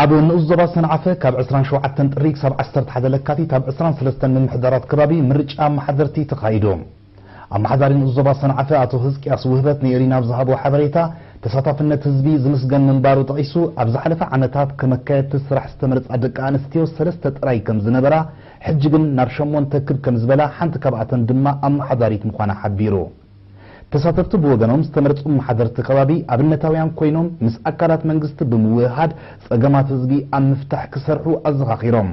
ኣብ ንኡስ ዞባ ሰንዓፈ ካብ ዕስራን ሸውዓተን ጥሪ ክሳብ ዓሰርተ ሓደ ለካቲት ኣብ ዕስራን ሰለስተን ምምሕዳራት ከባቢ ምርጫ ኣመሓደርቲ ተኻይዱ። ኣመሓዳሪ ንኡስ ዞባ ሰንዓፈ ኣቶ ህዝቅያስ ውህበት ንኤሪና ኣብ ዝሃቦ ሓበሬታ፣ ተሳታፍነት ህዝቢ ዝምስገን ምንባሩ ጠቒሱ፣ ኣብ ዝሓለፈ ዓመታት ከመካየድቲ ስራሕ ዝተመርጻ ደቂ ኣንስትዮ ሰለስተ ጥራይ ከም ዝነበራ፣ ሕጂ ግን ናብ ሸሞንተ ክብ ከም ዝበላ፣ ሓንቲ ካብኣተን ድማ ኣመሓዳሪት ምዃና ሓቢሩ። ተሳተፍቲ ብወገኖም ዝተመርጹ ኣመሓደርቲ ከባቢ ኣብነታውያን ኮይኖም ምስ ኣካላት መንግስቲ ብምውህሃድ ጸገማት ህዝቢ ኣብ ምፍታሕ ክሰርሑ ኣዘኻኺሮም።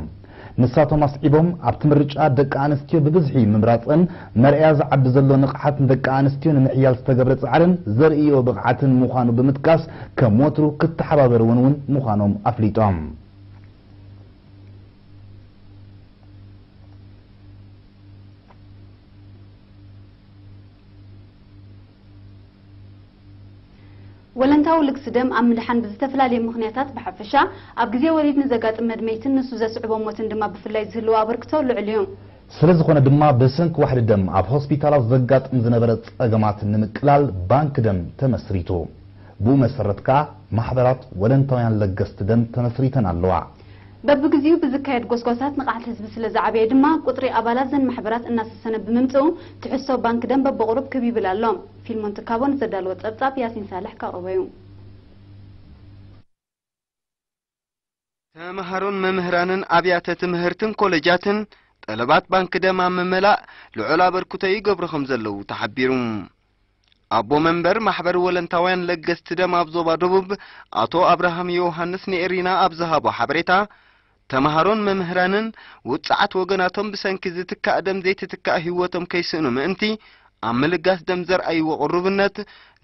ንሳቶም ኣስዒቦም ኣብቲ ምርጫ ደቂ ኣንስትዮ ብብዝሒ ምምራጸን መርኣያ ዝዓቢ ዘሎ ንቕሓት ንደቂ ኣንስትዮ ንምሕያል ዝተገብረ ጻዕርን ዘርእዮ ብቕዓትን ምዃኑ ብምጥቃስ ከም ወትሩ ክተሓባበርወን እውን ምዃኖም ኣፍሊጦም። ወለንታዊ ልግሲ ደም ኣብ ምድሓን ብዝተፈላለየ ምኽንያታት ብሓፈሻ፣ ኣብ ግዜ ወሊድ ንዘጋጥም መድመይትን ንሱ ዘስዕቦ ሞትን ድማ ብፍላይ ዝህልዎ ኣበርክቶ ልዑል እዩ። ስለዝኾነ ድማ ብሰንኪ ዋሕዲ ደም ኣብ ሆስፒታላት ዘጋጥም ዝነበረ ጸገማት ንምቅላል ባንክ ደም ተመስሪቱ። ብኡ መሰረት ከኣ ማሕበራት ወለንታውያን ለገስቲ ደም ተመስሪተን ኣለዋ። በብግዚኡ ብዝካየድ ጎስጓሳት ንቕሓት ህዝቢ ስለ ዝዓበየ ድማ፣ ቁጽሪ ኣባላት ዘን ማሕበራት እናሰሰነ ብምምጽኡ፣ ትሕዝቶ ባንክ ደም በብቑሩብ ክብ ይብል ኣሎ። ፊልሞን ትካቦ ንዘዳለዎ ጸብጻብ ያሲን ሳልሕ ከቕርቦ እዩ። ተመሃሮን መምህራንን ኣብያተ ትምህርትን ኮለጃትን ጠለባት ባንክ ደም ኣብ ምምላእ ልዑል ኣበርክቶ ይገብሩ ከም ዘለዉ ተሓቢሩ። ኣቦ መንበር ማሕበር ወለንታውያን ለገስቲ ደም ኣብ ዞባ ደቡብ ኣቶ ኣብርሃም ዮውሃንስ ንኤሪና ኣብ ዝሃቦ ሓበሬታ፣ ተመሃሮን መምህራንን ውጽዓት ወገናቶም ብሰንኪ ዝትካእ ደም ዘይትትካእ ህይወቶም ከይስእኑ ምእንቲ ኣብ ምልጋስ ደም ዘርኣይዎ ቅሩብነት፣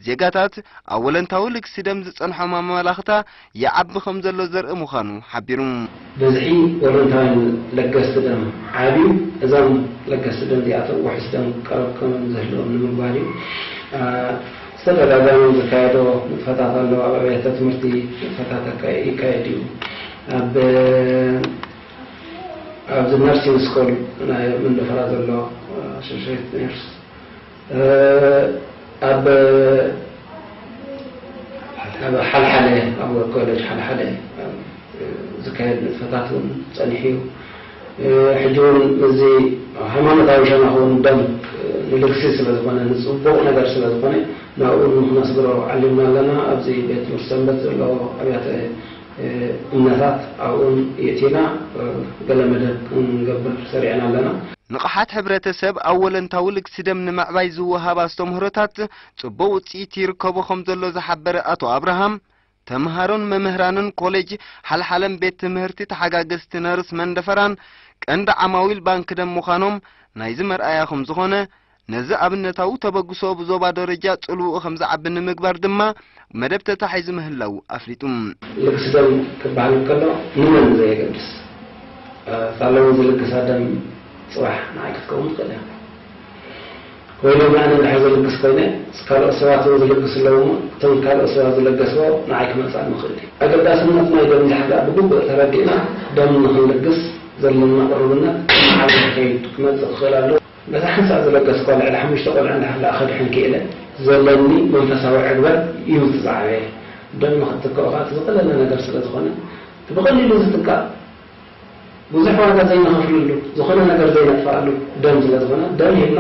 ዜጋታት ኣብ ወለንታዊ ልግሲ ደም ዝጸንሖም ኣመላኽታ ይዓቢ ከም ዘሎ ዘርኢ ምዃኑ ሓቢሩ። ብዝሒ ወለንታውያን ለገስቲ ደም ዓብዩ፣ እዞም ለገስቲ ደም እዚኣቶም ውሑስ ደም ቀረብ ከም ዝህልዎም ንምግባር እዩ። አ፣ ዝተደጋጋሚ ዝካየዶ ንጥፈታት ኣሎ። ኣብ ኣብያተ ትምህርቲ ንጥፈታት ኣካ-፣ ይካየድ እዩ። ኣብ፣ ኣብዚ ነርሲንግ ስኩል ናይ መንደፈራ ዘሎ ኣሶሼት ነርስ፣ እ፣ ኣብ፣ ኣብ ሓልሓለ፣ ኣብ ኮሌጅ ሓልሓለ፣ እ፣ ዝካየድ ንጥፈታት እውን ጸኒሑ እዩ። እ፣ ሕጂ እውን ምስዚ ሃይማኖታዊ ሸነኽ እውን ደም፣ እ፣ ንልግሲ ስለ ዝኾነ፣ ንጽቡቕ ነገር ስለ ዝኾነ፣ ናብኡ እውን ክነስግሮ ዓሊምና ኣለና። ኣብዚ ቤት ትምህርቲ ሰንበት ዘለዎ ኣብያተ፣ እ፣ እምነታት ኣብኡን የእቲና፣ እ፣ ገለ መደብ ክንገብር ሰሪዕና ኣለና። ንቕሓት ሕብረተሰብ ኣብ ወለንታዊ ልግሲ ደም ንምዕባይ ዝወሃብ ኣስተምህሮታት ጽቡቕ ውጽኢት ይርከቦ ከም ዘሎ ዝሓበረ ኣቶ ኣብርሃም፣ ተምሃሮን መምህራንን ኮሌጅ ሓልሓለን ቤት ትምህርቲ ተሓጋገዝቲ ነርስ መንደፈራን ቀንዲ ዓማዊል ባንክ ደም ምዃኖም ናይዚ መርኣያ ከም ዝኾነ፣ ነዚ ኣብነታዊ ተበግሶ ብዞባ ደረጃ ጽልውኡ ከም ዝዓቢ ንምግባር ድማ መደብ ተታሒዙ ምህላዉ ኣፍሊጡ። ልግሲ ደም ክበሃል እንከሎ ንመን ዘየገድስ፣ እታ ሎሚ ዝልግሳ ደም ጽባሕ ንዓይ ክትከውን ትኽእል እያ። ወይ ሎሚ ኣነ እንድሕር ዝልግስ ኮይነ፣ ካልኦት ሰባት እውን ዝልግሱ ኣለዉ እሞ፣ እቶም ካልኦት ሰባት ዝለገስዎ ንዓይ ክመጽኣኒ ይኽእል እዩ። ኣገዳስነት ናይ ደም ዝሓዛ ብግቡእ ተረዲእና፣ ደም ንኽንልግስ ዘለና ቅሩብነት እናዓበየ ክኸይድ ክመጽእ ክኽእል ኣለዎ። በታ ሓንሳእ ዝለገስኳ ልዕሊ ሓሙሽተ ቆልዑ እንድሕር ደኣ ከድሕን ክኢለ፣ ዘለኒ መንፈሳዊ ዕግበት እዩ እቲ ዝዓበየ። ደም ንኽትክኦ ከኣ እቲ ዝቐለለ ነገር ስለ ዝኾነ፣ እቲ ብቐሊሉ ዝትካእ፣ ብዙሕ ዋጋ ዘይንኸፍለሉ፣ ዝኾነ ነገር ዘይነጥፍኣሉ ደም ስለ ዝኾነ፣ ደም ሂብና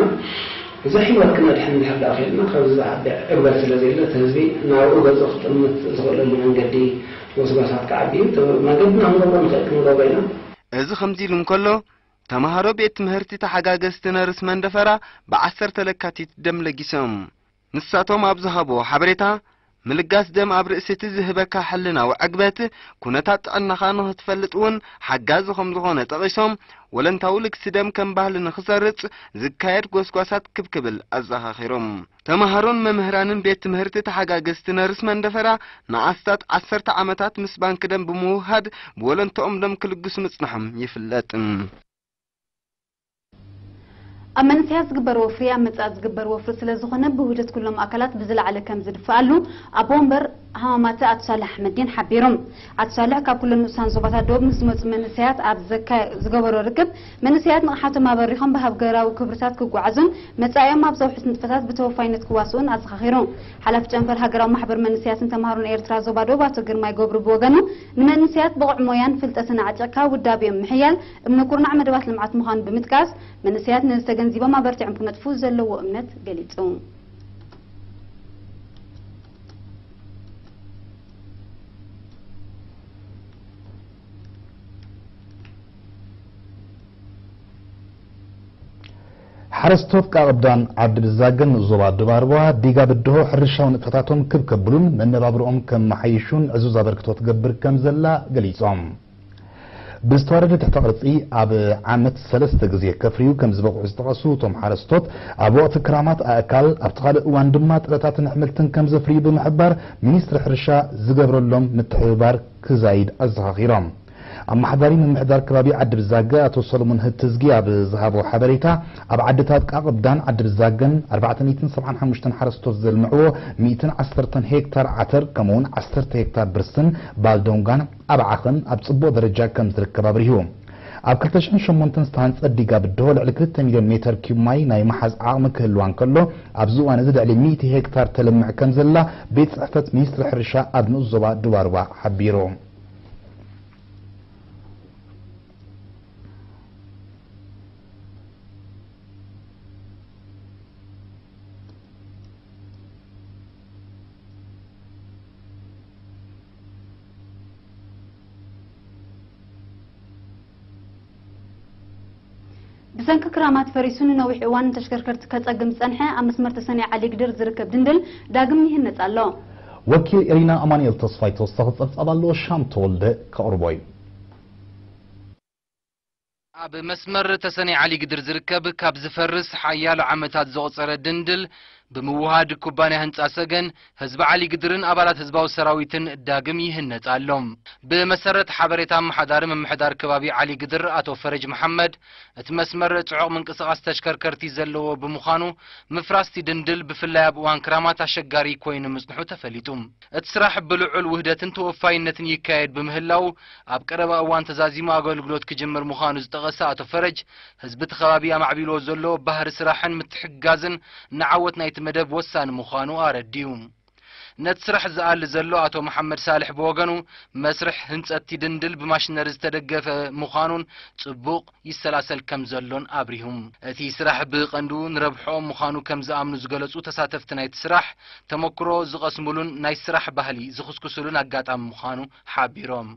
ብዙሕ ህይወት ክነድሕን እንድሕር ደኣ ኽኢልና፣ ካብዚ ዝዓቢ ዕግበት ስለ ዘየለ፣ እቲ ህዝቢ ናብኡ ገጹ ክጥምት ዝኽእለሉ መንገዲ፣ ጎስጓሳት ክዓቢ እዩ። እቲ መንገድና ክንገብሮ ንኽእል ክንገብሮ ኢና። እዚ ከምዚ ኢሉ እንከሎ፣ ተምሃሮ ቤት ትምህርቲ ተሓጋገዝቲ ነርስ መንደፈራ ብዓሰርተ ለካቲት ደም ለጊሶም። ንሳቶም ኣብ ዝሃብዎ ሓበሬታ፣ ምልጋስ ደም ኣብ ርእሲ እቲ ዝህበካ ሕልናዊ ዕግበት፣ ኩነታት ጥዕናኻ ንኽትፈልጥ እውን ሓጋዚ ከም ዝኾነ ጠቒሶም፣ ወለንታዊ ልግሲ ደም ከም ባህሊ ንኽሰርጽ ዝካየድ ጎስጓሳት ክብ ክብል ኣዘኻኺሮም። ተምሃሮን መምህራንን ቤት ትምህርቲ ተሓጋገዝቲ ነርስ መንደፈራ ንኣስታት ዓሰርተ ዓመታት ምስ ባንክ ደም ብምውህሃድ ብወለንትኦም ደም ክልግሱ ምጽንሖም ይፍለጥ። ኣብ መንእሰያት ዝግበር ወፍሪ ኣብ መጻኢ ዝግበር ወፍሪ ስለ ዝኾነ ብውህደት ኩሎም ኣካላት ብዝለዓለ ከም ዝድፈኣሉ ኣቦ ወንበር ሃማማተ ኣቶ ሳልሕ ኣሕመዲን ሓቢሩ። ኣቶ ሳልሕ ካብ ኩለን ንኡሳን ዞባታት ደቡብ ምስ ዝመጹ መንእሰያት ኣብ ዘካ-፣ ዝገበሮ ርክብ፣ መንእሰያት ንቕሓቶም ኣበሪኾም ብሃገራዊ ክብርታት ክጓዓዙን መጻኢኦም ኣብ ዘውሕስ ንጥፈታት ብተወፋይነት ክዋስኡን ኣዘኻኺሩ። ሓላፊ ጨንፈር ሃገራዊ ማሕበር መንእሰያትን ተማሃሮን ኤርትራ ዞባ ደቡብ ኣቶ ግርማይ ገብሩ ብወገኑ፣ ንመንእሰያት ብቑዕ ሞያን ፍልጠትን ኣዕጢቕካ ውዳቤኦም ምሕያል እምነ ኩርናዕ መደባት ልምዓት ምዃኑ ብምጥቃስ፣ መንእሰያት ነዚ ተገንዚቦም ኣበርቲዖም ክነጥፉ ዘለዎ እምነት ገሊጹ። ሓረስቶት ቃቕብዳን ዓዲ ብዛገን ዞባ ድባርዋ ዲጋ ብድሆ ሕርሻዊ ንጥፈታቶም ክብ ከብሉን መነባብርኦም ከመሓይሹን ዕዙዝ ኣበርክቶ ትገብር ከም ዘላ ገሊጾም። ብዝተዋደደ ትሕተ ቅርጺ ኣብ ዓመት ሰለስተ ግዜ ከፍርዩ ከም ዝበቕዑ ዝጠቐሱ እቶም ሓረስቶት፣ ኣብ ወቕቲ ክራማት ኣእካል፣ ኣብቲ ካልእ እዋን ድማ ጥረታትን ኣሕምልትን ከም ዘፍርዩ ብምሕባር፣ ሚኒስትሪ ሕርሻ ዝገብረሎም ምትሕብባር ክዛይድ ኣዘኻኺሮም። ኣመሓዳሪ ምምሕዳር ከባቢ ዓዲ ብዛገ ኣቶ ሰሎሞን ህትዝጊ ኣብ ዝሃቦ ሓበሬታ፣ ኣብ ዓድታት ቃቕብዳን ዓዲ ብዛገን ኣርባዕተ ሚእትን ሰብዓን ሓሙሽተን ሓረስቶት ዘልምዕዎ ሚእትን ዓሰርተን ሄክታር ዓተር፣ ከምኡውን ዓሰርተ ሄክታር ብርስን ባልዶንጋን ኣብ ዓኸን ኣብ ጽቡቕ ደረጃ ከም ዝርከብ ኣብሪሁ። ኣብ ክልተ ሽሕን ሸሞንተን ዝተሃንጸ ዲጋ ብድሆ ልዕሊ ክልተ ሚልዮን ሜተር ኪዩብ ማይ ናይ መሓዝ ዓቕሚ ክህልዋ እንከሎ፣ ኣብዚ እዋን እዚ ልዕሊ ሚእቲ ሄክታር ተለምዕ ከም ዘላ ቤት ጽሕፈት ሚኒስትሪ ሕርሻ ኣብ ንኡስ ዞባ ድባርባ ሓቢሩ። ብሰንኪ ክራማት ፈሪሱ ንነዊሕ እዋን ንተሽከርከርቲ ከጸግም ዝጸንሐ ኣብ መስመር ተሰንያ ዓሊግድር ዝርከብ ድንድል ዳግም ይህነጽ ኣሎ። ወኪል ኤሪና ኣማኑኤል ተስፋይ ተወሳኺ ጸብጻብ ኣለዎ፣ ሻም ተወልደ ከቕርቦ እዩ። ኣብ መስመር ተሰነይ ዓሊግድር ዝርከብ ካብ ዝፈርስ ሓያሎ ዓመታት ዘቑጸረ ድንድል ብምውሃድ ኩባንያ ህንጻ ሰገን፣ ህዝቢ ዓሊግድርን ኣባላት ህዝባዊ ሰራዊትን ዳግም ይህነጽ ኣሎ። ብመሰረት ሓበሬታ ኣመሓዳሪ ምምሕዳር ከባቢ ዓሊግድር ኣቶ ፈረጅ መሓመድ፣ እቲ መስመር ጽዑቕ ምንቅስቓስ ተሽከርከርቲ ዘለዎ ብምዃኑ፣ ምፍራስቲ ድንድል ብፍላይ ኣብ እዋን ክራማት ኣሸጋሪ ኮይኑ ምጽንሑ ተፈሊጡ። እቲ ስራሕ ብልዑል ውህደትን ተወፋይነትን ይካየድ ብምህላው፣ ኣብ ቀረባ እዋን ተዛዚሙ ኣገልግሎት ክጅምር ምዃኑ ዝጠቐሰ ኣቶ ፈረጅ፣ ህዝቢ እቲ ከባቢ ኣማዕቢልዎ ዘሎ ባህሪ ስራሕን ምትሕግጋዝን ንዓወት ናይቲ መደብ ወሳኒ ምዃኑ ኣረዲኡ። ነቲ ስራሕ ዝኣሊ ዘሎ ኣቶ መሓመድ ሳልሕ ብወገኑ፣ መስርሕ ህንጸት እቲ ድንድል ብማሽነሪ ዝተደገፈ ምዃኑን ጽቡቕ ይሰላሰል ከም ዘሎን ኣብሪሁ። እቲ ስራሕ ብቐንዱ ንረብሕኦም ምዃኑ ከም ዝኣምኑ ዝገለጹ ተሳተፍቲ ናይቲ ስራሕ፣ ተመክሮ ዝቐስሙሉን ናይ ስራሕ ባህሊ ዝኹስኩስሉን ኣጋጣሚ ምዃኑ ሓቢሮም።